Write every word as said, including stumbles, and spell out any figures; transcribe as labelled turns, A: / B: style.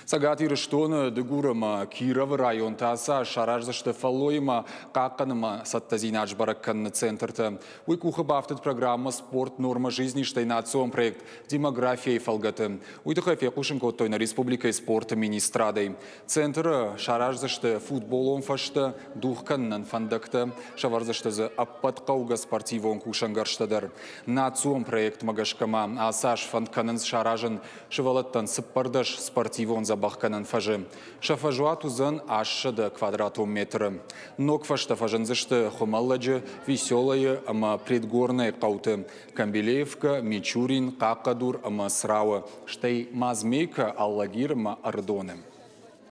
A: Цӕгат Ирыстоны, Дыгур ӕмӕ Кировы районтӕ ацы аз сараздзысты фӕллойимӕ хъахъхъӕнынмӕ цӕттӕдзинад сбӕрӕг кӕныны центртӕ. Уый къухы бафтыд программӕ «Спорт. Норма жизни», стӕй национ проект «Демография»-йы фӕлгӕты. Уый тыххӕй фехъусын кодтой нӕ республикӕйы спорты министрадӕй. Центры сараздзысты футболон фӕзтӕ, дугъ кӕнынӕн фӕндӕгтӕ, сӕвӕрдзысты дзы ӕппӕт хъӕугӕ спортивон кусӕнгӕрзтӕ дӕр. Национ проектмӕ гӕсгӕ ма ацы аз фӕнд кӕнынц саразын сывӕллӕттӕн цыппӕрдӕс спортивон дзӕбӕхгӕнӕн фӕзы. Сӕ фӕзуат уыдзӕн ассӕдӕ квадратон метры. Ног фӕзтӕ фӕзындзысты Хуымӕллӕджы, Веселойы ӕмӕ Предгорнӕйы хъӕуты, Камбилеевкӕ, Мичурин, Хъахъхъӕдур ӕмӕ Црауы, стӕй Мазмейкӕ, Алагир ӕмӕ Ӕрыдоны.